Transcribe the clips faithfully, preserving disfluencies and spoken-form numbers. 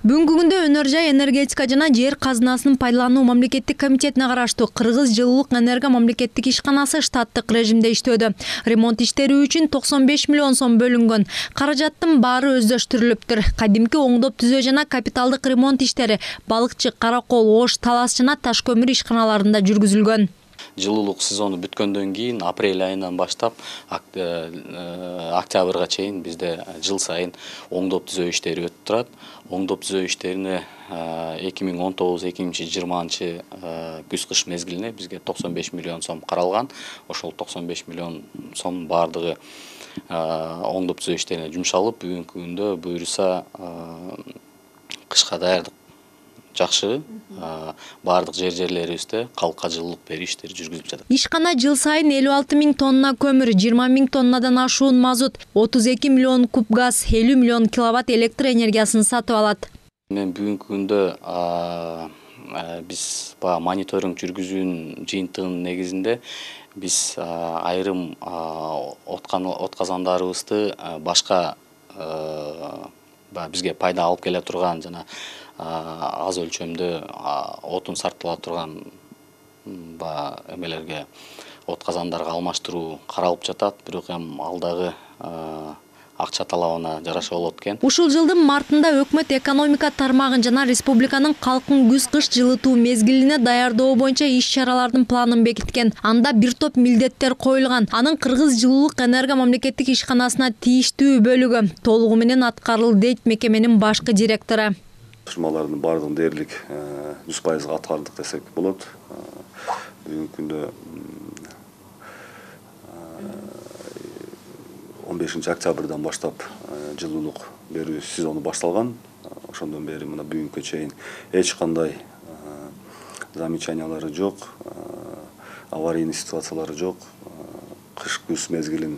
Бүгүнкү күндө Өнөр жай энергетика жана жер казынасынын пайдалануу мамлекеттик комитетине караштуу Кыргыз жылуулук энерго мамлекеттик ишканасы штаттык режимде иштөөдө. Ремонт иштери үчүн токсон беш миллион сом бөлүнгөн. Каражаттын баары өздөштүрүлүптүр. Кадимки оңдоп түзөө жана капиталдык ремонт иштери Балыкчы, Каракол, Ош, Талас жана Таш көмүр ишканаларында жүргүзүлгөн. Жылуулук сезону бүткөндөн кийин апрель айынан баштап октябрга чейин бизде жыл сайын оңдоп түзөө иштери өтүп турат. Оңдоп түзөө иштерине эки миң он тогуз эки миң жыйырманчы күз кыш мезгилине бизге токсон беш миллион сом каралган. Ошол токсон беш миллион сом бардыгы оңдоп түзөө иштерине жумшалып, бүгүнкү күндө буюрса кышка даярдык жакшы, бардык жер жерлерибизде калкка жылуулук берүү иштери жүргүзүлүп жатат. Ишкана жыл сайын элүү алты миң тонна көмүр, жыйырма миң тоннадан ашуун мазут, отуз эки миллион куб газ, элүү миллион киловатт электр энергиясын сатып алат. Мен бүгүнкү күндө биз баягы мониторинг жүргүзүүнүн жыйынтыгынын негизинде биз айрым отказандарыбызды башка бизге пайда алып келе турган жана аз өлчөмдө отун сарптала турган эмелерге отказандарга алмаштыруу каралып жатат. Бирок эми алдагы акча талабына жараша болот экен. Ушул жылдын мартында өкмөт экономика тармагын жана республиканын калкын күз-кыш жылытуу мезгилине даярдоо боюнча иш-чаралардын планын бекиткен. Анда бир топ милдеттер коюлган. Анын Кыргыз жылуулук энерго мамлекеттик ишканасына тийиштүү бөлүгү толугу менен аткарылды дейт мекеменин башкы директору. Тапшырмалардын бардыгын дээрлик жүз пайызга аткардык десек болот. Бүгүнкү күндө он бешинчи октябрдан баштап жылуулук берүү сезону башталган. Ошондон бери мына бүгүнкү чейин эч кандай замечаниялары жок, аварийный ситуациялары жок. Кыш-күз мезгилин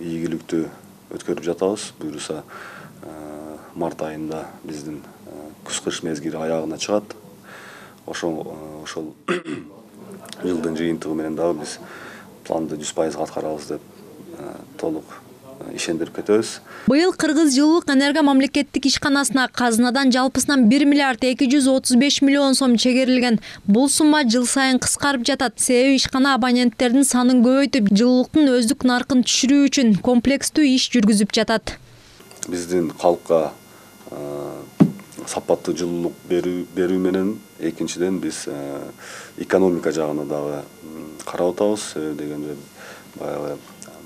ийгиликтүү өткөрүп жатабыз. Буюрса март айында биздин күз-кыш мезгили аягына чыгат. Ошол ошол жылдын жыйынтыгы менен дагы биз планды жүз пайызга аткарабыз деп толук ишендирип кетебиз. Быйыл Кыргыз жылуулук энерго мамлекеттик ишканасына казынадан жалпысынан бир миллиард эки жүз отуз беш миллион сом чегерилген. Бул сумма жыл сайын кыскарып жатат. Себеби ишкана абоненттердин санын көбөйтүп, жылуулуктун өздүк наркын түшүрүү үчүн комплекстүү иш жүргүзүп жатат. Биздин калкка сапаттуу жылуулук берүү менен экинчиден биз экономика жагына дагы карап атабыз. Себеби дегенде баягы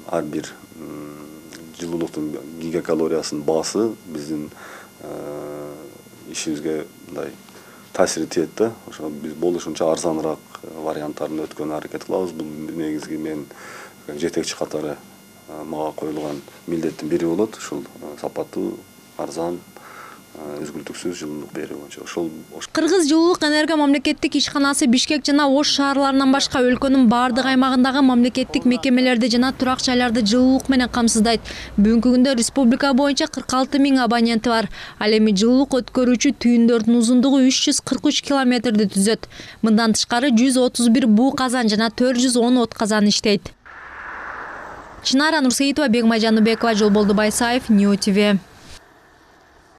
ар бир жылуулуктун гигакалориясынын баасы биздин ишибизге мындай таасири тиет да. Ошо биз болушунча арзаныраак варианттарын өткөнү аракет кылабыз. Бул негизги мен жетекчи катары мага коюлган милдеттин бири болот. Ушул сапаттуу, арзан, үзгүлтүксүз жылуулук берүү боюнча. Ошол Кыргыз жылуулук энерго мамлекеттик ишканасы Бишкек жана Ош шаарларынан башка өлкөнүн бардык аймагындагы мамлекеттик мекемелерди жана турак жайларды жылуулук менен камсыздайт. Бүгүнкү күндө республика боюнча кырк алты миң абоненти бар. Ал эми жылуулук өткөрүүчү түйүндөрдүн узундугу үч жүз кырк үч километрди түзөт. Мындан тышкары жүз отуз бир буу казан жана төрт жүз он от казан иштейт. Чынара Нурсейитова, Бегмай Жаныбекова, Жолболду Байсаев, Нью ТВ.